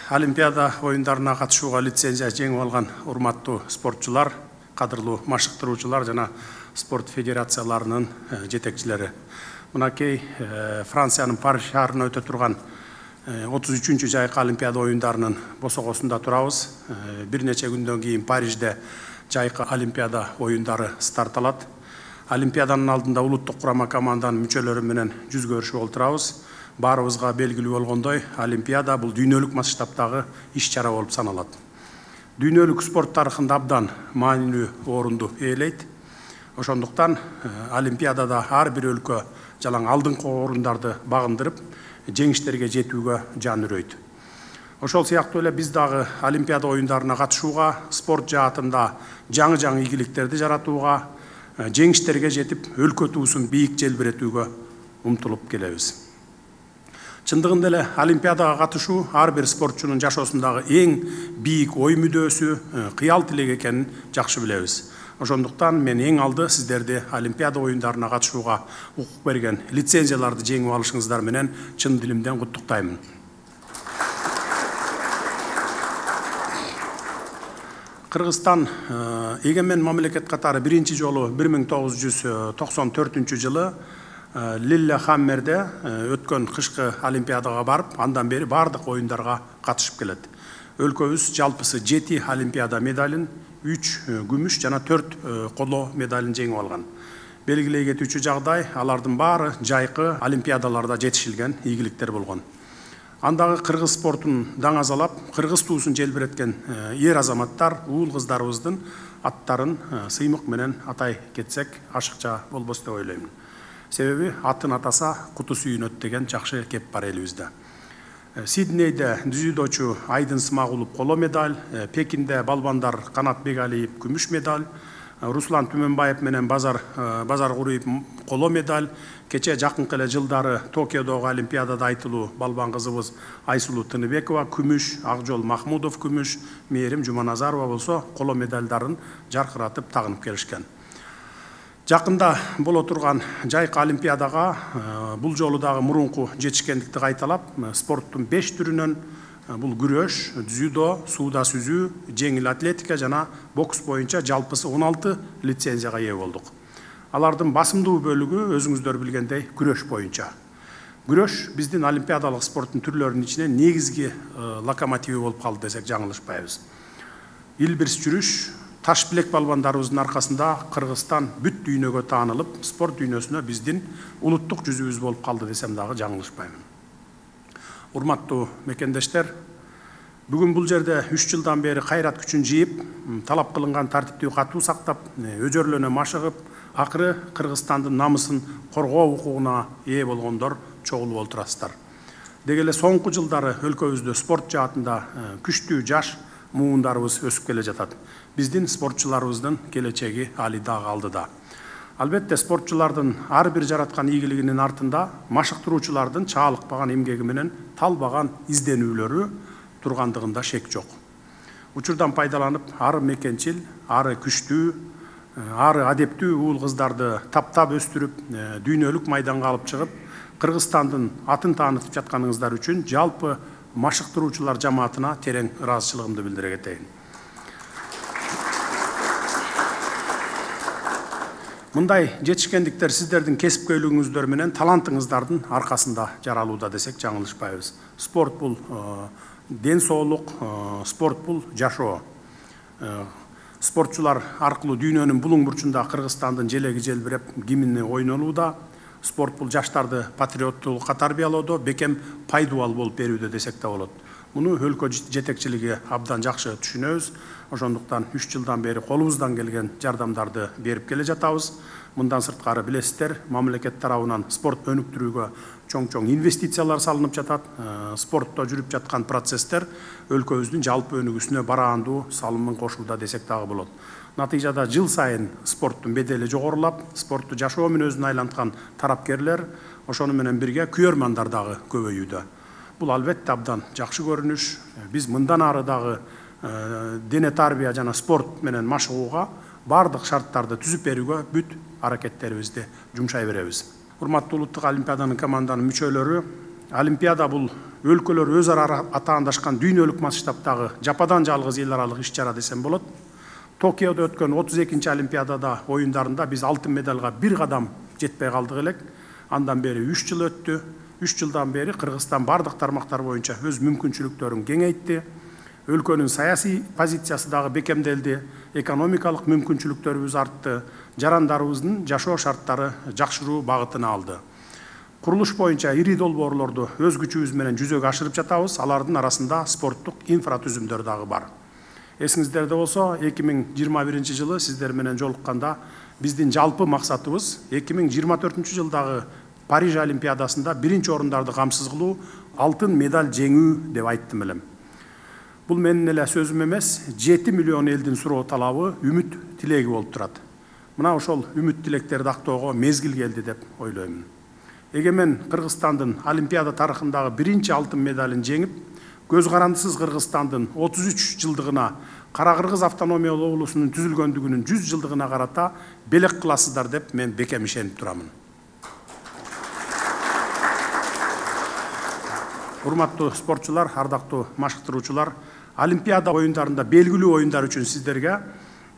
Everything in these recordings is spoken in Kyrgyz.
Олимпиада оюндарына катышууга лицензия жеңип алган урматтуу спортчулар, кадырлуу машыктыруучулар жана спорт федерацияларынын жетекчилери. Мынакей Франциянын Париж шаарында өтө турган 33-чү жайкы Олимпиада оюндарынын босогосунда турабыз. Бир нече күндөн кийин Парижде жайкы Олимпиада оюндары старт алат. Олимпиаданын алдында улуттук курама команданын мүчөлөрү менен жүз көрүшүп олтурабыз. Баарыбызга белгилүү болгондой, Олимпиада бул дүйнөлүк масштабтагы иш-чара болуп саналат. Дүйнөлүк спорт тарыхында абдан маанилүү орунду ээлейт. Ошондуктан Олимпиадада ар бир өлкө жалаң алдыңкы орундарды багындырып, жеңиштерге жетүүгө жан үрөйт. Ошол сыяктуу эле биз дагы Олимпиада оюндарына катышууга, спорт жаатында жаңы ийгиликтерди жаратууга, жеңиштерге жетип, өлкө туусун бийик желбиретүүгө умтулуп келебиз. Чындыгында эле Олимпиадага катышуу ар бир спортчунун жашоосундагы эң бийик ой мүдөөсү, кыял тилек экенин жакшы билебиз. Ошондуктан мен эң алды сиздерди Олимпиада оюндарына катышууга укук берген лицензияларды жеңип алышыңыздар менен чын дилимден куттуктаймын. Кыргызстан эгемен мамлекет катары биринчи жолу 1994-жылы Лиллехаммерде өткөн кышкы Олимпиадага барып, андан бери бардык оюндарга катышып келет. Өлкөбүз жалпысы 7 Олимпиада медалин, 3 күмүш жана 4 коло медалин жеңип алган. Белгилей кетүүчү жагдай, алардын баары жайкы Олимпиадаларда жетишилген ийгиликтер болгон. Андагы кыргыз спортун даңазалап, кыргыз туусун желбиреткен эр азаматтар, уул кыздарыбыздын аттарын сыймык менен атай кетсек, ашыкча болбос деп ойлоймун. Себеби атын атаса куту сүйүнөт деген жакшы кеп бар элибизде. Сиднейде дзюдочу Айдын Смагулов коло медаль, Пекинде балбандар Канат Бегалиев күмүш медаль, Руслан Түмөнбаев менен Базар Куриев коло медаль, кече жакынкы эле жылдары Токиодогу Олимпиадада айтылуу балбан кызыбыз Айсулуу Тыныбекова күмүш, Акжол Махмудов күмүш, Мээрим Жуманазарова болсо коло медальдарын жаркыратып тагынып келишкен. Жакында боло турган жайкы Олимпиадага бул жолу дагы мурунку жетишкендикти кайталап, спорттун 5 түрүнөн бул күрөш, дзюдо, сууда сүзүү, жеңил атлетика жана бокс боюнча жалпысы 16 лицензияга ээ болдук. Алардын басымдуу бөлүгү өзүңүздөр билгендей күрөш боюнча. Күрөш биздин олимпиадалык спорттун түрлөрүнүн ичинен негизги локомотиви болуп калды десек жаңылышпайбыз. Илбирс жүрүш, таш билек балбандарыбыздын аркасында Кыргызстан бүт дүйнөгө таанылып, спорт дүйнөсүнө биздин улуттук жүзүбүз болуп калды десем дагы жаңылышпаймын. Урматтуу мекендештер, бүгүн бул жерде 3 жылдан бери кайрат күчүн жыйып, талап кылынган тартиптүү катуу сактап, өжөрлөнө машыгып, акыры Кыргызстандын намысын коргоо укугуна ээ болгондор чогулуп олтурасыздар. Деги эле соңку жылдары өлкөбүздө спорт жаатында күчтүү жаш муундарыбыз өсүп келе жатат. Биздин спортчуларыбыздын келечеги али дагы алдыда. Албетте спортчулардын ар бир жараткан ийгилигинин артында машыктыруучулардын чаалыкпаган эмгеги менен талбаган изденүүлөрү тургандыгында шек жок. Учурдан пайдаланып, ары мекенчил, ары күчтүү, ары адептүү уул кыздарды таптап өстүрүп, дүйнөлүк майданга алып чыгып, Кыргызстандын атын таанытып жатканыңыздар үчүн жалпы машыктыруучулар жамаатына терең ыраазычылыгымды билдире кетейин. Мындай жетишкендиктер сиздердин кесипкөйлүгүңүздөр менен талантыңыздардын аркасында жаралууда десек жаңылышпайбыз. Спорт бул ден соолук, спорт бул жашоо. Спортчулар аркылуу дүйнөнүн булуң бурчунда Кыргызстандын желеги желбиреп, гимни ойнолууда. Спорт бул жаштарды патриоттуулукка тарбиялоодо бекем пайдубал болуп берүүдө десек да болот. Муну өлкө жетекчилиги абдан жакшы түшүнөбүз. Ошондуктан 3 жылдан бери колубуздан келген жардамдарды берип келе жатабыз. Мындан сырткары билесиздер, мамлекет тарабынан спорт өнүктүрүүгө чоң инвестициялар салынып жатат. Спортто жүрүп жаткан процесстер өлкөбүздүн жалпы өнүгүүсүнө бараандуу салымын кошууда десек дагы болот. Натыйжада жыл сайын спорттун бедели жогорулап, спортту жашоо мүнөзүнө айланткан тарапкерлер, ошону менен бирге күйөрмандар дагы көбөйүүдө. Бул албетте абдан жакшы көрүнүш. Биз мындан ары дагы дене тарбия жана спорт менен машыгууга бардык шарттарды түзүп берүүгө бүт аракеттерибизди жумшай беребиз. Урматтуу улуттук олимпиаданын команданын мүчөлөрү, Олимпиада бул өлкөлөр өз ара атаандашкан дүйнөлүк масштабтагы жападан жалгыз эл аралык иш чара десем болот. Токиодо өткөн 32-нчи Олимпиадада оюндарында биз алтын медалга бир кадам жетпей калдык элек. Андан бери 3 жыл өттү. 3 жылдан бери Кыргызстан бардык тармактар боюнча өз мүмкүнчүлүктөрүн кеңейтти. Өлкөнүн саясий позициясы дагы бекемделди. Экономикалык мүмкүнчүлүктөрүбүз артты. Жарандарыбыздын жашоо шарттары жакшыруу багытына алды. Курулуш боюнча ири долбоорлорду өз күчүбүз менен жүзөгө ашырып жатабыз. Алардын арасында спорттук инфратүзүмдөр дагы бар. Эсиңиздерде болсо, 2021 жылы сиздер менен жолукканда биздин жалпы максатыбыз 2024 жылдагы Париж Олимпиадасында биринчи орундарды камсыз кылуу, алтын медаль жеңүү деп айттым элем. Бул менин эле сөзүм эмес, 7 миллион элдин суроо талабы, үмүт тилеги болуп турат. Мына ошол үмүт тилектерди актоого мезгил келди деп ойлоймун. Эгемен Кыргызстандын Олимпиада тарыхындагы биринчи алтын медалын жеңип, көз карандысыз Кыргызстандын 33 жылдыгына, Кара Кыргыз автономиялуу облусунун түзүлгөндүгүнүн 100 жылдыгына карата белек кыласыздар деп мен бекем ишенип турамын. Урматтуу спортчулар, ардактуу машыктыруучулар, Олимпиада оюндарында белгилүү оюндар үчүн сиздерге,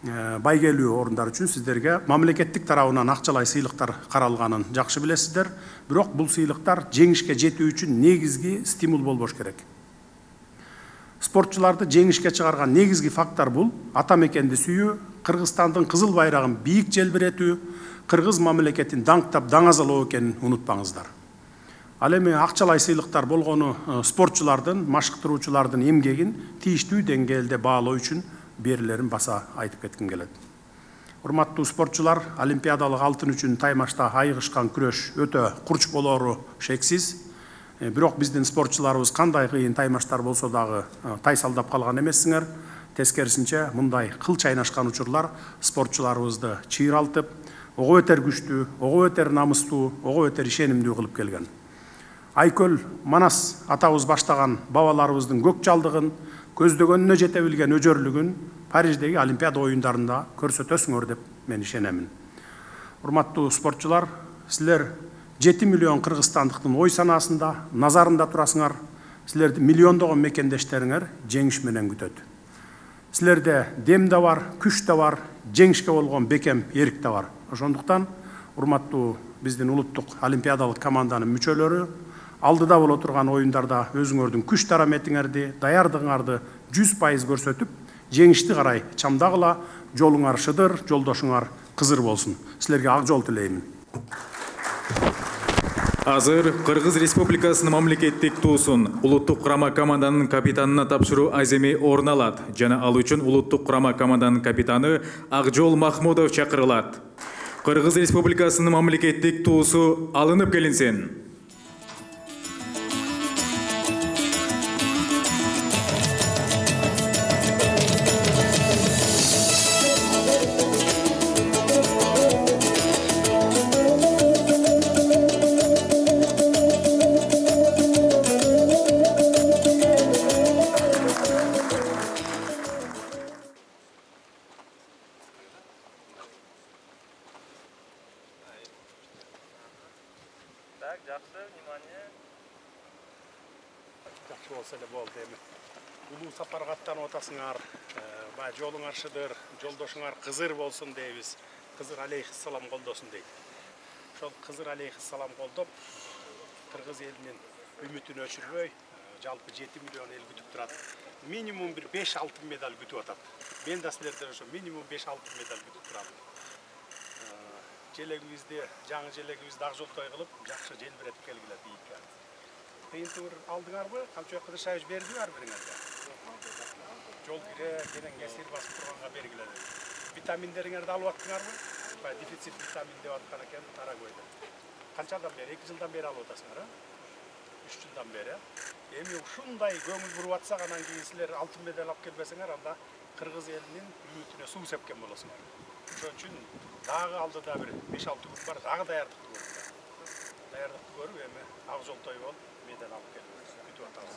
байгелүү орундар үчүн сиздерге мамлекеттик тарабынан акчалай сыйлыктар каралганын жакшы билесиздер. Бирок бул сыйлыктар жеңишке жетүү үчүн негизги стимул болбош керек. Спортчуларды жеңишке чыгарган негизги фактор бул ата мекенди сүйүү, Кыргызстандын кызыл байрагын бийик желбиретүү, кыргыз мамлекетин даңктап даңазалоо экенин унутпаңыздар. Ал эми акчалай сыйлыктар болгону спортчулардын, машыктыруучулардын эмгегин тийиштүү деңгээлде баалоо үчүн берилерин баса айтып кетким келет. Урматтуу спортчулар, олимпиадалык алтын үчүн таймашта айыгышкан күрөш өтө курч болору шексиз. Бирок биздин спортчуларыбыз кандай кыйын таймаштар болсо дагы тайсалдап калган эмессиңер. Тескерисинче, мындай кыл чайнашкан учурлар спортчуларыбызды чыйралтып, ого бетер күчтүү, ого бетер намыстуу, ого бетер ишенимдүү кылып келген. Айкөл Манас атабыз баштаган бабаларыбыздын көк жалдыгын, көздөгөнүнө жете билген өжөрлүгүн Париждеги Олимпиада оюндарында көрсөтөсүңөр деп мен ишенемин. Урматтуу спортчулар, силер 7 миллион кыргызстандыктын ой санаасында, назарында турасыңар. Силерди миллиондогон мекендештериңер жеңиш менен күтөт. Силерде дем да бар, күч да бар, жеңишке болгон бекем эрик да бар. Ошондуктан, урматтуу биздин улуттук олимпиадалык команданын мүчөлөрү, алдыда боло турган оюндарда өзүңөрдүн күч тараметиңерди, даярдыгыңарды 100% көрсөтүп, жеңишти карай чамдагыла, жолуңар шыдыр, жолдошуңар кызыр болсун. Силерге ак жол тилеймин. Азыр Кыргыз Республикасынын мамлекеттик туусун улуттук курама команданын капитанына тапшыруу аземи орун алат жана ал үчүн улуттук курама команданын капитаны Акжол Махмудов чакырылат. Кыргыз Республикасынын мамлекеттик туусу алынып келинсин. Так, жақсы, внимание. Жақсы болса эле болду эми. Улуу сапарга аттанып атасыңар, жолуңар шыдыр, жолдошуңар кызыр болсун дейбиз. Кызыр алейхиссалам колдосун дейт. Ошол кызыр алейхиссалам колдоп, кыргыз элинин үмүтүн өчүрбөй, жалпы 7 миллион эл күтүп турат. Минимум бир 5 алтын медаль күтүп атат. Мен да силерден ошо минимум 5 алтын медаль күтүп турам. Желегибизди, жаңы желегибизди ак жолтой кылып, жакшы желбиретип келгиле бийикке. Кыйынтыгыр алдыңарбы? Камчы Кыдыршаевич бердиби ар бириңерге? Жол кире, менен кесир басып турганга бергиле. Витаминдериңерди алып аттыңарбы? Дефицит витамин деп аткан экен Тарагойдо. Канчадан бери? 2 жылдан бери алып атасыңар, 3 жылдан бери. Эми ушундай көңүл буруп атсак, анан кийин силер алтын медаль алып келбесеңер, анда кыргыз элинин үмүтүнө суу сепкен болосуңар. Ошон үчүн дагы алдыда бир 5-6 күн бар, дагы даярдыкты көрүп. Даярдыкты көрүп, эми ак жолтой болуп, медаль алып келип күтүп атабыз.